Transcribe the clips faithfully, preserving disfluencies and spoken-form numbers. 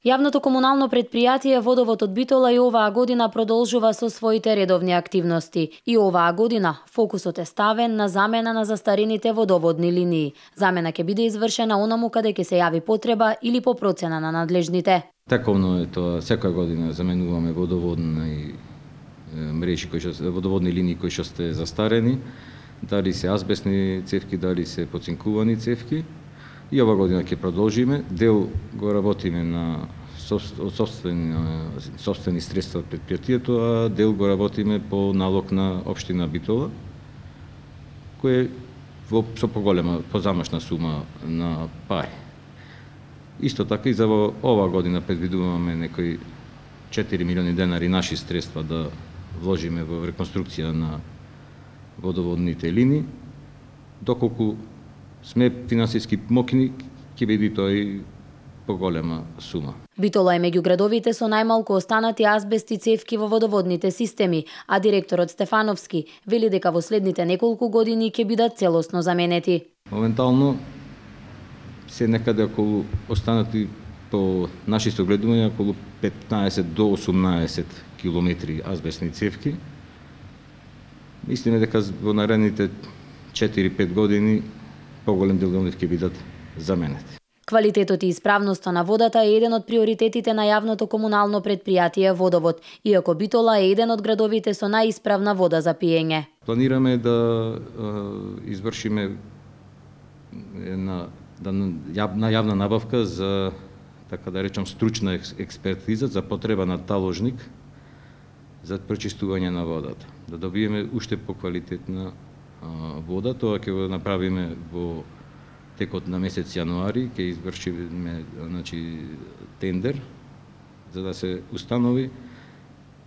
Јавното комунално предпријатие Водовод од Битола и оваа година продолжува со своите редовни активности. И оваа година фокусот е ставен на замена на застарените водоводни линии. Замена ќе биде извршена онаму каде ќе се јави потреба или по процена на надлежните. Таковно е тоа, секоја година заменуваме водоводни мрежи кои што водоводни линии кои што сте застарени, дали се азбестни цевки, дали се поцинкувани цевки. И ова година ќе продолжиме. Дел го работиме на собствени, собствени средства од предпријатието, а дел го работиме по налог на општина Битола, кој е во со поголема, позамашна сума на пари. Исто така и за ова година предвидуваме некои четири милиони денари наши средства да вложиме во реконструкција на водоводните линии, доколку сме финансиски мокни, ќе биде тој поголема сума. Битола е меѓу градовите со најмалку останати азбести цевки во водоводните системи, а директорот Стефановски вели дека во следните неколку години ќе бидат целосно заменети. Моментално се некаде околу останати по наши согледувања околу петнаесет до осумнаесет километри азбестни цевки. Мислиме дека во наредните четири-пет години поголем дел од нив ќе бидат заменети. Квалитетот и исправноста на водата е еден од приоритетите на јавното комунално предпријатие Водовод, иако Битола е еден од градовите со најисправна вода за пиење. Планираме да е, извршиме една да, на јавна набавка за, така да речам, стручна експертиза за потреба на таложник за пречистување на водата. Да добиеме уште поквалитетна вода, тоа ќе го направиме во текот на месец јануари, ќе извршиме значи тендер за да се установи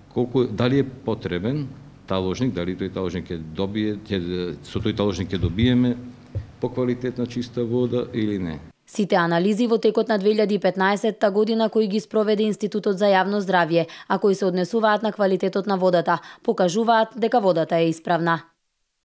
колку дали е потребен таложник, дали тој таложник ќе добие, ќе со тој таложник ќе добиеме поквалитетна чиста вода или не. Сите анализи во текот на две илјади и петнаесетта година кои ги спроведе Институтот за јавно здравје, а кои се однесуваат на квалитетот на водата, покажуваат дека водата е исправна.